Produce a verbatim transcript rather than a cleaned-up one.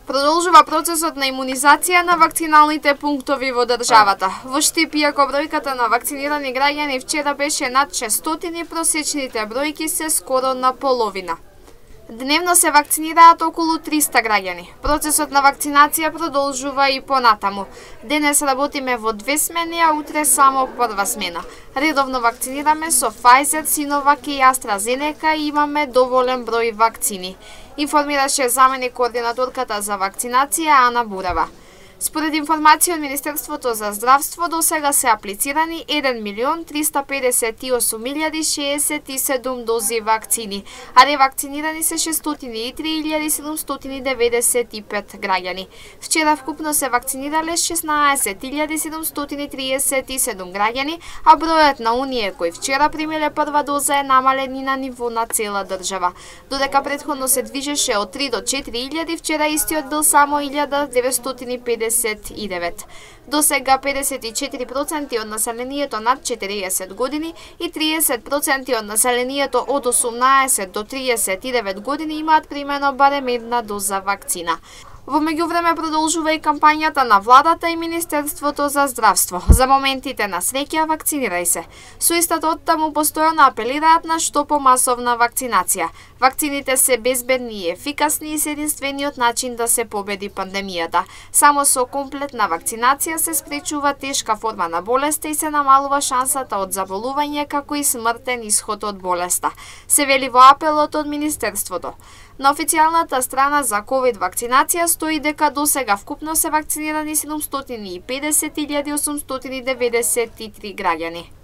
Продолжува процесот на имунизација на вакциналните пунктови во државата. Во Штип, иако бројката на вакцинирани граѓани вчера беше над шестстотини, просечните бројки се скоро на половина. Дневно се вакцинираат околу триста граѓани. Процесот на вакцинација продолжува и понатаму. Денес работиме во две смени, а утре само прва смена. Редовно вакцинираме со Pfizer, Sinovac и AstraZeneca и имаме доволен број вакцини, информираше заменик координаторката за вакцинација Ана Бурава. Според информација од Министерството за здравство, до сега се аплицирани еден милион триста педесет и осум илјади шеесет и седум дози вакцини, а ревакцинирани се шестстотини и три илјади седумстотини деветдесет и пет граѓани. Вчера вкупно се вакцинирале шеснаесет илјади седумстотини триесет и седум граѓани, а бројот на оние кои вчера примиле прва доза е намален и на ниво на цела држава. Додека претходно се движеше од три до четири илјади, вчера истиот бил само илјада деветстотини педесет и девет. До сега педесет и четири проценти од населението над четириесет години и триесет проценти од населението од осумнаесет до триесет и девет години имаат примено барем една доза вакцина. Во меѓувреме продолжува и кампањата на владата и Министерството за здравство. За моментите на среќа вакцинирај се. Со истата оттаму постојано апелираат на што помасовна вакцинација. Вакцините се безбедни и ефикасни и се единствениот начин да се победи пандемијата. Само со комплетна вакцинација се спречува тешка форма на болеста и се намалува шансата од заболување како и смртен исход од болеста, се вели во апелот од Министерството. На официјалната страна за ковид вакцинација стои дека до сега вкупно се вакцинирани седумстотини и педесет илјади осумстотини деветдесет и три граѓани.